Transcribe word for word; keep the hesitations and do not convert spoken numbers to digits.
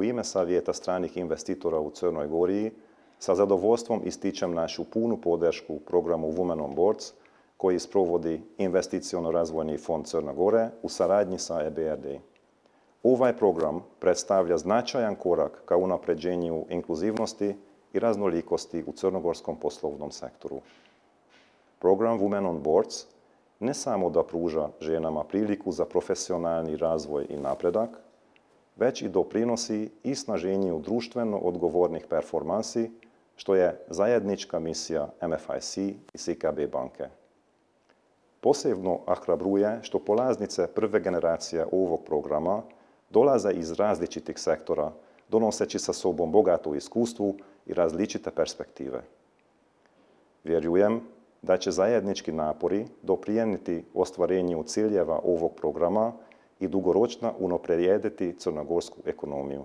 u ime Savjeta stranih investitora u Crnoj Gori sa zadovoljstvom ističem našu punu podršku programu Women on Boards koji sprovodi Investiciono-razvojni fond Crne Gore u saradnji sa E B R D. Ovaj program predstavlja značajan korak ka unapređenju inkluzivnosti i raznolikosti u crnogorskom poslovnom sektoru. Program Women on Boards ne samo da pruža ženama priliku za profesionalni razvoj i napredak, već i doprinosi i snaženju društveno odgovornih performansi, što je zajednička misija M F I C i S I K B banke. Posebno ohrabruje što polaznice prve generacije ovog programa dolaze iz različitih sektora, donoseći sa sobom bogato iskustvo i različite perspektive. Vjerujem da će zajednički napori doprijeniti ostvarenju ciljeva ovog programa i dugoročno unaprijediti crnogorsku ekonomiju.